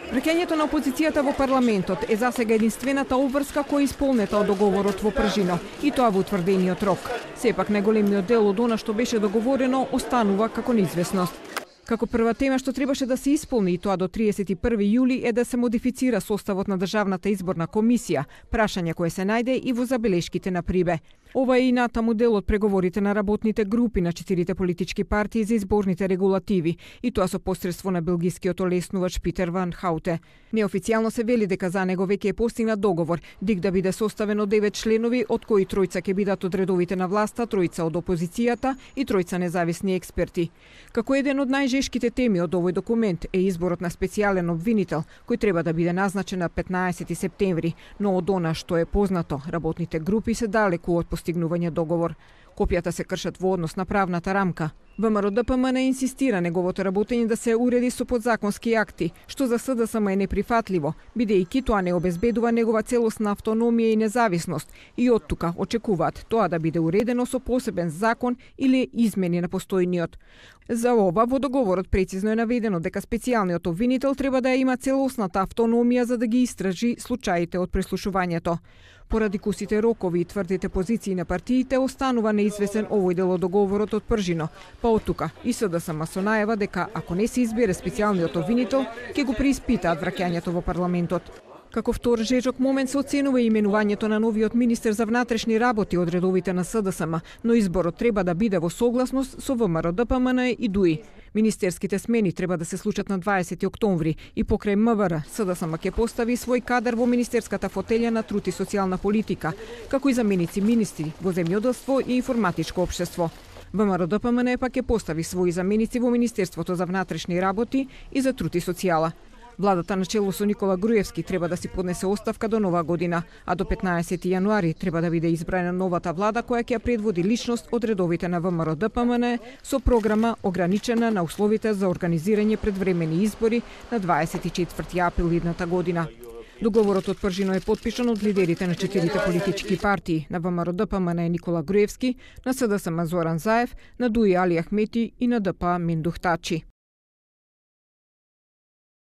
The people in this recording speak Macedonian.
Враќањето на опозицијата во парламентот е засега единствената обврска која е исполнета од договорот во Пржино, и тоа во утврдениот рок. Сепак најголемиот дел од она што беше договорено останува како неизвестност. Како прва тема што требаше да се исполни, и тоа до 31 јули, е да се модифицира составот на Државната изборна комисија, прашање кое се најде и во забелешките на Прибе. Ова е и натаму дел од преговорите на работните групи на 4 политички партии за изборните регулативи, и тоа со посредство на белгискиот олеснувач Питер Ван Хауте. Неофицијално се вели дека за него веќе е постигнат договор, ДИК да биде составен од 9 членови, од кои тројца ќе бидат од редовите на власта, тројца од опозицијата и тројца независни експерти. Како еден од најжешките теми од овој документ е изборот на специјален обвинител, кој треба да биде назначен на 15 септември, но од она што е познато, работните групи се далеку од постигнување договор. Копијата се кршат во однос на правната рамка. ВМРО-ДПМН инсистира неговото работење да се уреди со подзаконски акти, што за СДСМ е неприфатливо, бидејќи тоа не обезбедува негова целосна автономија и независност, и оттука очекуваат тоа да биде уредено со посебен закон или измени на постојниот. За ова во договорот прецизно е наведено дека специјалниот обвинител треба да има целосната автономија за да ги истражи случаите од преслушувањето. Поради кусите рокови и тврдите позиции на партиите, останува неизвестен овој дел од договорот од Пржино, па од тука и СДСМ со најава дека ако не се избере специјалниот обвинител, ќе го преиспитаат враќањето во парламентот. Како втор жежок момент се оценува именувањето на новиот министер за внатрешни работи од редовите на СДСМ, но изборот треба да биде во согласност со ВМРО-ДПМН и ДУИ. Министерските смени треба да се случат на 20 октомври и покрај МВР, СДСМ ќе постави свој кадар во министерската фотелја на труд и социјална политика, како и заменици министри во земјоделство и информатичко општество. ВМРО-ДПМН пак ќе постави своји заменици во Министерството за внатрешни работи и за труд и социјала. Владата на чело со Никола Груевски треба да си поднесе оставка до нова година, а до 15 јануари треба да биде избрана новата влада која ќе ја предводи личност од редовите на ВМРО-ДПМН со програма ограничена на условите за организирање предвремени избори на 24 април идната година. Договорот од Пржино е потпишан од лидерите на 4 политички партии, на ВМРО-ДПМН Никола Груевски, на СДСМ Зоран Заев, на ДУИ Али Ахмети и на ДП Миндух Тачи.